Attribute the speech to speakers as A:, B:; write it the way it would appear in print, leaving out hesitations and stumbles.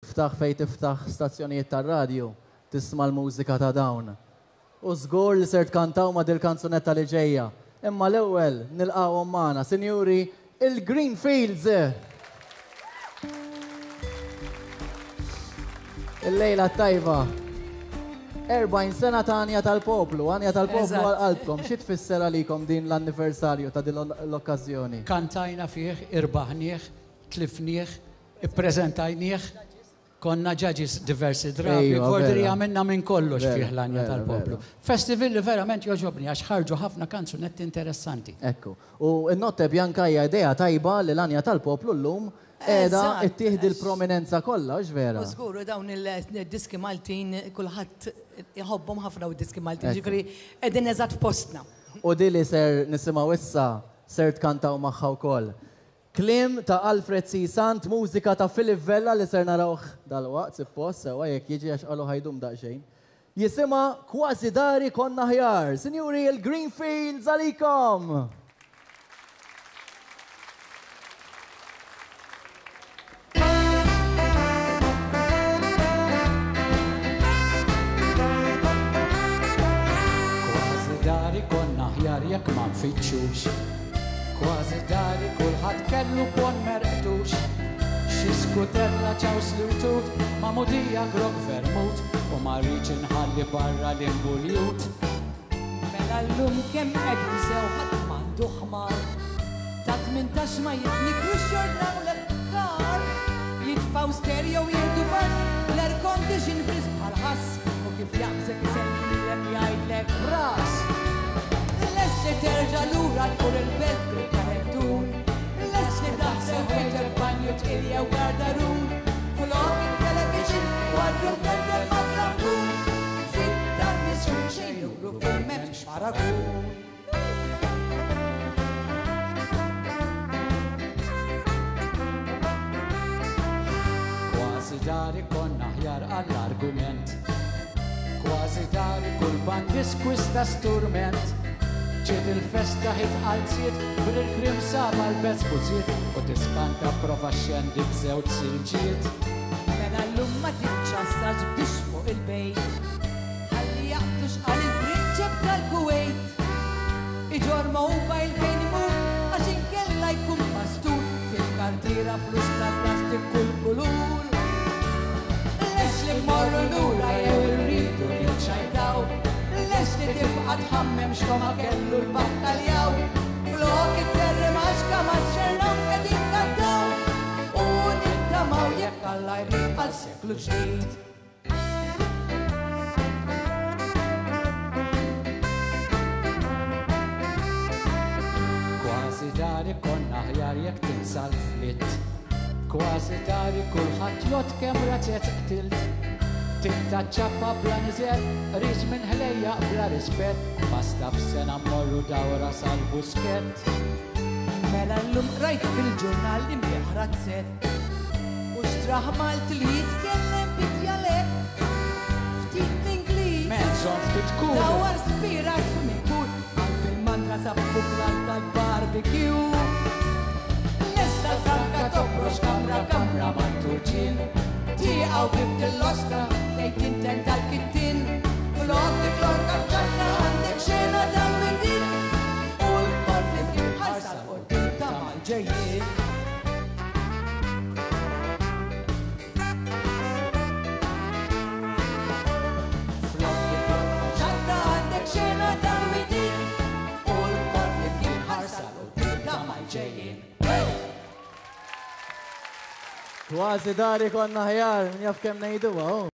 A: Tiftaħ fejn tiftaħ stazzjonijiet tar-radju, tisma' l-mużika ta' dawn. U żgur li ser tkantaw ma' dil-kanzunetta li ġejja. Imma l-ewwel nilqgħuhom magħna, sinjuri, il-Greenfields! Il-lejla t-tajba. 40 sena ta' Għanja tal-Poplu, Għanja tal-Poplu għal qalbkom. Xi tfisser għalikom din l-anniversarju ta' din l-okkażjoni?
B: Kantajna fih, irbaħnieh, tlifnieh, Ippreżentajnieh, konna judges diversi drabi, vordri għamilna minn kollox fih l-Għanja tal-Poplu. Festival li verament jogħġobni għax ħarġu ħafna kanzunetti interessanti.
A: Ekku. U n-Notte Bianca hija idea tajba li l-Għanja tal-Poplu llum qiegħda ttih dil-prominenza kollha, hux vera?
C: U żgur, u dawn il-diski Maltin kulħadd iħobbhom ħafna dawn id-diski Maltin, jiġifieri qegħdin eżatt f'postna.
A: U di li ser nisimgħu issa ser tkantaw magħha wkoll. Kliem ta' Alfred C. Sant, mużika ta' Philip Vella li ser narawh dalwaqt, sippost, sewwa jekk jiġi għax qalu ħa jdum daqsxejn. Jisimha Kważi Dari Konna Aħjar. Sinjuri, il-Greenfields għalikom!
B: Kważi dari konna aħjar jekk ma nfittxux. Kważi dari kulħadd kellu bon merqtux. Xi skutella ċaws li wtut, magħmudija grog vermut u ma rridx inħalli barra l-imbuljut.
C: Mela llum kemm qegħdin sew ħadd m'għandu ħmar. Ta' 18 ma jitnikrux jordnawlek kar. Jitfgħu stereo jieħdu buzz, l-air condition frisk bħal ħass u kif jaqbżek isellmilek jgħidlek ras. Lest li terġa' lura tmur il-belt bil-karettun. Lest li taħsel ħwejġek banju tqil jew gardarun. Flok it-television kwadru mdendel mat-trampun. Fid-dar misħun xejn juru fuq m'hemmx paragun.
B: Kważi dari konna aħjar għall-argument. Kważi dari kull bandis kwista sturment. Ġiet il-festa ħit qalziet bil-krim saba l-bezbuziet u tiskanta prova xendi b'żewġ silġiet.
C: Mela llum ma tiċċassax biex fuq il-bejt. Ħalli jaqbdu x'qal il-prinċep tal-Kuwait. Iġorr mobile fejn imur għax inkella jkun pastur fil-kartiera flus tal-plastik kull kulur. Lest li mmorru lura jew irridu niċċajtaw? Lest li tibqa' tħammem x'togħma kellu l-battaljaw? Flok it-terrimaxka mas-serram qegħdin kantaw u nittamaw jekk Alla jrid għal seklu ġdid.
B: Kważi dari konna aħjar jekk tinsa l-flitt. Kważi dari kulħadd jgħodd kemm razzett qtilt. Tinta ċappa bla niżel, qris minn ħlejjaq bla rispett, basta f'sena mmorru dawra sal-Buskett.
C: Mela llum qrajt fil-ġurnal li nbigħ razzett. U xtrah Malti li jitkellem bid-djalett. Ftit l-Ingliż.
B: Menżon ftit cool.
C: Dawar spira swimming pool. Qalb il-mandra sab fuklar tal-barbecue.
B: Lesta l-franka toħroġ kamra kamra mat-turġien. Tieqa u bib tillosta
C: fejn tinten tal-kittin. Flok dik l-orka ċatta għandek xena tal-widien. U lkoll flimkien ħarsa 'l quddiem ta' mal-ġejjien. Ċatta għandek xena tal-widien. U lkoll flimkien ħarsa 'l quddiem ta' mal-ġejjien.
A: Kważi dari konna aħjar, min jaf kemm ngħiduha, hu.